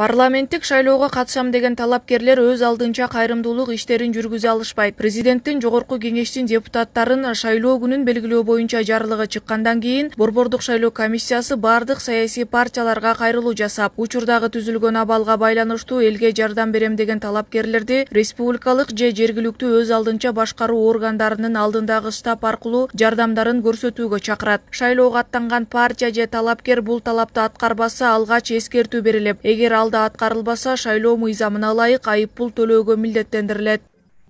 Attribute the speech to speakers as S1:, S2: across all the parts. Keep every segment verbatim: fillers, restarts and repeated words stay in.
S1: Парламенттик шайлоого катышам деген талапкерлер өз алдынча кайрымдуулук иштерин жүргүзө алышпайт. Президенттин жогорку кеңештин депутаттарын шайлоо күнүн белгилөө боюнча жарлыгы чыккандан кийин Борбордук шайлоо комиссиясы бардык саясий партияларга кайрылуу жасап, учурдагы түзүлгөн абалга байланыштуу элге жардам берем деген талапкерлерди республикалык же жергиликтүү өз алдынча башкаруу органдарынын алдындагы штаб аркылуу жардамдарын көрсөтүүгө чакырат. Шайлоого аттанган партия же талапкер бул талапты аткарбаса алгач эскертүү берилип, эгер ал аткарылбаса шайлоо мыйзамына ылайык айып пул төлөөгө милдеттендирилет.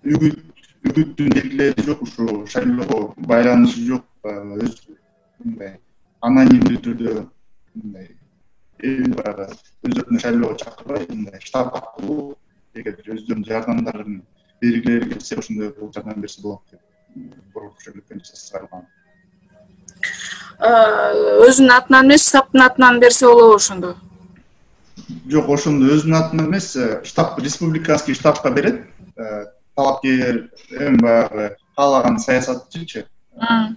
S2: Үгүт үгүттүн белгилери жок, ушу шайлоого байланышы жок, өз мындай анонимдүү түрдө мындай эл бара өздөрүнүн шайлоого чакырбай, мындай штаб аркылуу эгер өздөрүнүн жардамдарын бергилери келсе, ошондой бул жардам берсе болот деп Борбордук шайлоо комиссиясы чыгарган.
S3: Өзүнүн атынан эмес, штабтын атынан берсе болобу ошондо?
S2: Жок, ошондо өзүнүн атынан эмес, штаб, республиканский штабка берет. Талапкер эми баягы каалаган саясатчычы,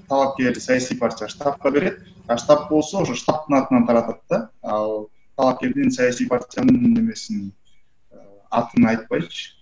S2: талапкер саясий партия штабка берет. А штаб болсо ошо штабтын атынан таратат да. Ал талапкердин саясий партиянын немесин атын айтпайчы.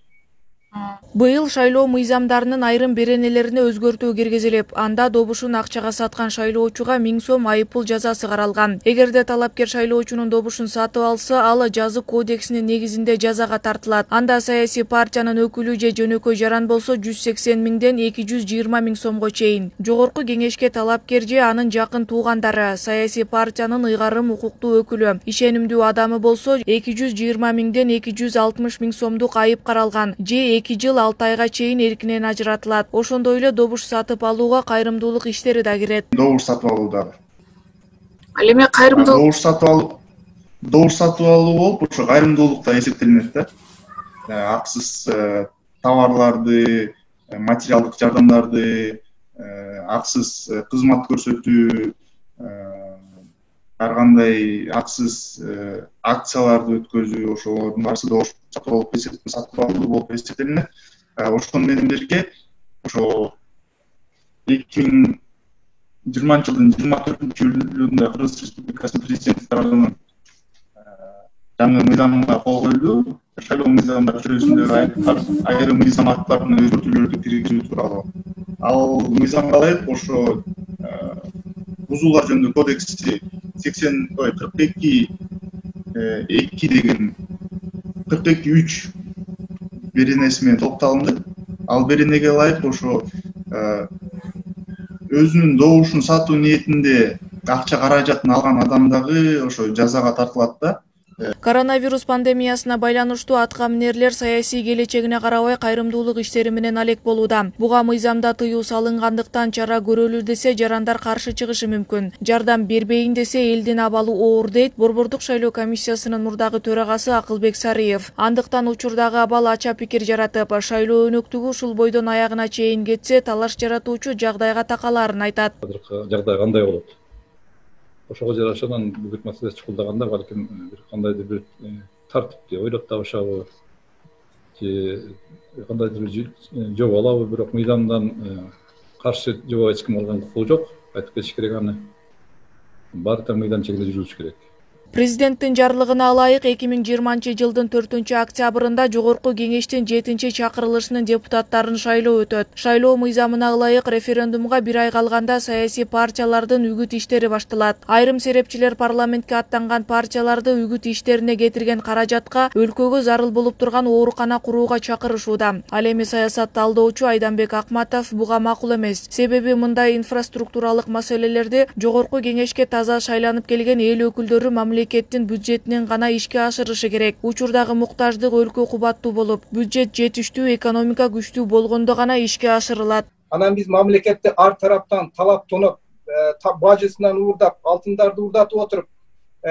S1: Быйыл шайлоо мыйзамдарынын айрым беренелерине өзгөртүү киргизилип, анда добушун акчага саткан шайлоочуга миң сом айыппул жазасы каралган. Эгерде талапкер шайлоочунун добушун сатып алса, ал жаза кодексинин негизинде жазага тартылат. Анда саясий партиянын өкүлү же жөнөкөй жаран болсо жүз сексен миңден эки жүз жыйырма миң сомго чейин. Жогорку кеңешке талапкер же анын жакын туугандары, саясий партиянын ыйгарым укуктуу өкүлү, ишенимдүү адамы болсо эки жүз жыйырма миңден эки жүз алтымыш миң сомдук айып каралган же эки жыл алты айга чейин эркинен ажыратылат. Ошондой эле добуш сатып алууга кайрымдуулук иштери да кирет.
S2: Добуш сатып алуу дагы.
S3: Ал эми кайрымдуулук
S2: добуш сатып алуу, добуш сатып алуу болуп, ошо кайрымдуулук да эсептелинет да. Аксыз товарларды, материалдык жардамдарды, аксыз кызмат көрсөтүү, ар кандай аксыз акцияларды өткөзүү, ошолордун баары добуш сатып алуу болуп эсептелинет. Ошону менен бирге ошо эки миң жыйырманчы жылдын жыйырма төртүнчү июлунда Кыргыз Республикасынын президенти тарабынан жаңы мыйзамга кол коюлду. Шайлоо мыйзамы жүйөсүндөгү айрым мыйзам акттарына өзгөртүүлөрдү киргизүү тууралуу. Ал мыйзам калайык, ошо бузуулар жөнүндө кодекси сексен ой кырк эки эки деген кырк эки үч беренеси менен топтолунду. Ал беренеге ылайык ошо өзүнүн добушун сатуу ниетинде акча каражатын алган адам дагы ошо жазага тартылат да.
S1: Коронавирус пандемиясына байланыштуу атка минерлер саясий келечегине карабай кайрымдуулук иштери менен алек болууда. Буга мыйзамда тыюу салынгандыктан чара көрөлү десе жарандар каршы чыгышы мүмкүн. Жардам бербейин десе элдин абалы оор дейт Борбордук шайлоо комиссиясынын мурдагы төрагасы Акылбек Сарыев. Андыктан учурдагы абал ача пикир жаратып, шайлоо өнөктүгү ушул бойдон аягына чейин кетсе, талаш жаратуучу жагдайга такалаарын айтат.
S4: Жагдай кандай болот? Ошого жарашадан бүгүт маселеси чукулдаганда балким бир кандайдыр бир тартипти ойлоп табышабы же кандайдыр бир жобо алабы, бирок мыйзамдан каршы жобо эч ким алган укугу жок. Айтып кетиш керек аны. Баары да мыйзам чегинде жүрүш керек.
S1: Президенттин жарлыгына ылайык эки миң жыйырманчы жылдын төртүнчү октябрында жогорку кеңештин жетинчи чакырылышынын депутаттарын шайлоо өтөт. Шайлоо мыйзамына ылайык референдумга бир ай калганда саясий партиялардын үгүт иштери башталат. Айрым серепчилер парламентке аттанган партияларды үгүт иштерине кетирген каражатка өлкөгө зарыл болуп турган оорукана курууга чакырышууда. Ал эми саясат талдоочу Айданбек Акматов буга макул эмес. Себеби мындай инфраструктуралык маселелерди жогорку кеңешке таза шайланып келген эл өкүлдөрү мамлекет мамлекеттин бюджетинен гана ишке ашырышы керек. Учурдагы муктаждык өлкө кубаттуу болуп, бюджет жетиштүү, экономика күчтүү болгондо гана ишке ашырылат.
S5: Анан биз мамлекетти ар тараптан талап тонуп, бажысынан уурдап, алтындарды уурдатып отуруп,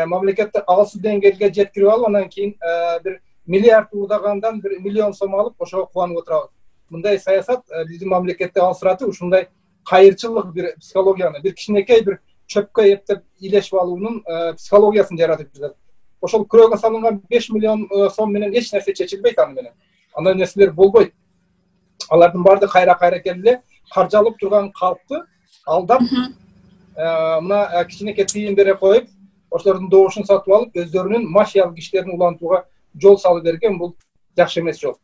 S5: мамлекетти алсыз деңгээлге жеткирип алып, анан кийин бир миллиард уурдагандан бир миллион сом алып, ошого кубанып отурабыз. Мындай саясат биздин мамлекетти алсыратып, ушундай кайырчылык бир психологияны, бир кичинекей бир чөпкө эптеп илешип алуунун психологиясын жаратып жатат. Ошол күрөөгө салынган беш миллион сом менен эч нерсе чечилбейт аны менен. Андай нерселер болбойт. Алардын баардыгы кайра-кайра келип эле каржалып турган калкты алдап, мына кичинекей тыйын бере коюп, ошолордун добушун сатып алып өздөрүнүн мафиялык иштерин улантууга жол салып берген. Бул жакшы эмес жол.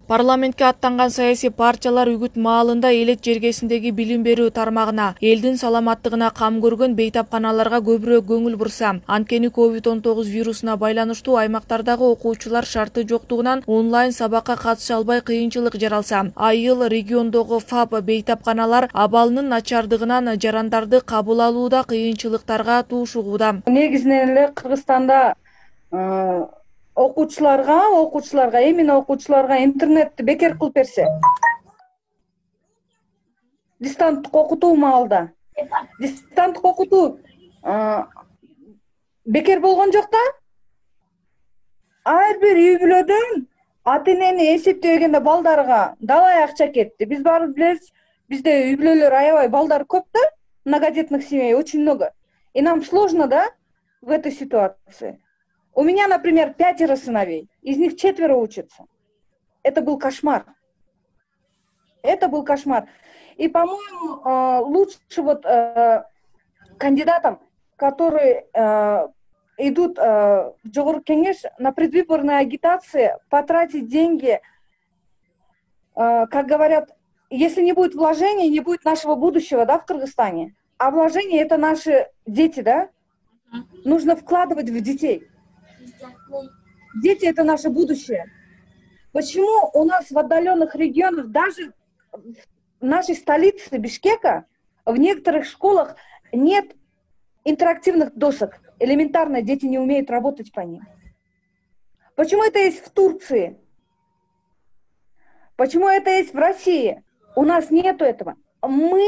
S1: Парламентке аттанган саясий партиялар үгүт маалында элет жергесиндеги билим берүү тармагына, элдин саламаттыгына кам көргөн бейтапканаларга көбүрөөк көңүл бурса, анткени ковид он тогуз вирусуна байланыштуу аймактардагы окуучулар шарты жоктугунан онлайн сабакка катыша албай кыйынчылык жаралса, айыл региондогу ФАП бейтапканалар абалынын начардыгынан жарандарды кабыл алууда кыйынчылыктарга туушугууда.
S6: Негизинен эле Кыргызстанда окуучуларга, окуучуларга, эмне окуучуларга интернетти бекер кылып берсе, дистанттык окутуу маалда, дистанттык окутуу бекер болгон жок да. Ар бир үй бүлөдөн ата-энени эсептегенде балдарга далай акча кетти. Биз баары билебиз, бизде үй бүлөлөр аябай балдар көп да, многодетных семей очень много. И нам сложно, да, в этой ситуации. У меня, например, пятеро сыновей, из них четверо учатся. Это был кошмар. Это был кошмар. И, по-моему, лучше вот кандидатам, которые идут в Жогорку Кеңеш на предвыборные агитации, потратить деньги, как говорят, если не будет вложений, не будет нашего будущего, да, в Кыргызстане. А вложения — это наши дети, да? Нужно вкладывать в детей. Дети — это наше будущее. Почему у нас в отдаленных регионах, даже в нашей столице Бишкека, в некоторых школах нет интерактивных досок? Элементарно, дети не умеют работать по ним. Почему это есть в Турции? Почему это есть в России? У нас нету этого. Мы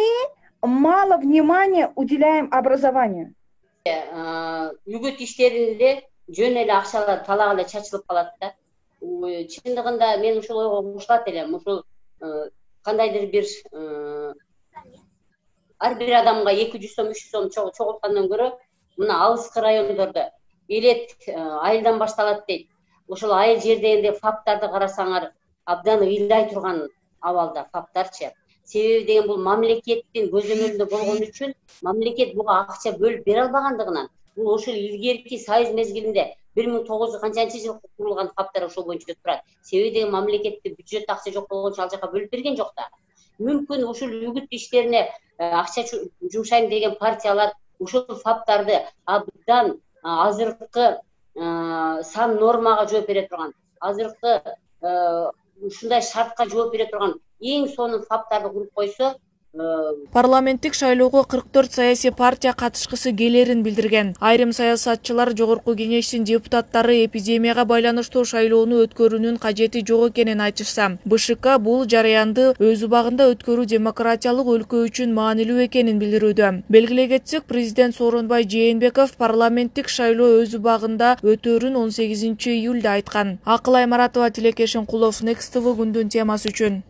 S6: мало внимания уделяем образованию.
S7: Үгүт иштеринде жөн эле акчалар талак эле чачылып калат да. Чындыгында мен ушул ойго кошулат элем. Ушул кандайдыр бир ар бир адамга эки жүз сом, үч жүз сом чогулткандан көрө, мына алыскы райондордо элет айылдан башталат дейт. Ошол айыл жердегенде фаптарды карасаңар, абдан ыйлай турган абалда фаптарчы. Себеби деген бул мамлекеттин көзөмөлүндө болгон үчүн мамлекет буга акча бөлүп бере албагандыгынан, бул ошол илгерки союз мезгилинде бир миң тогуз жүз канчанчы жылы курулган фаптар ошол боюнча турат. Себеби деген мамлекетте бюджет акча жок болгончо ал жака бөлүп берген жок да. Мүмкүн ушул үгүт иштерине акча жумшайм деген партиялар ушул фаптарды абдан азыркы сан нормага жооп бере турган, азыркы ушундай шартка жооп бере турган эң сонун фаптарды куруп койсо.
S1: Парламенттик шайлоого кырк төрт саясий партия катышкысы келерин билдирген. Айрым саясатчылар Жогорку Кеңештин депутаттары эпидемияга байланыштуу шайлоону өткөрүүнүн кажети жок экенин айтышса, БШК бул жараянды өз убагында өткөрүү демократиялык өлкө үчүн маанилүү экенин билдирүүдө. Белгилей кетсек, президент Сооронбай Жээнбеков парламенттик шайлоо өз убагында өтөрүн он сегизинчи июлда айткан. Акылай Маратова, Тилекешин Кулов, Next тэ вэ күндүн темасы үчүн.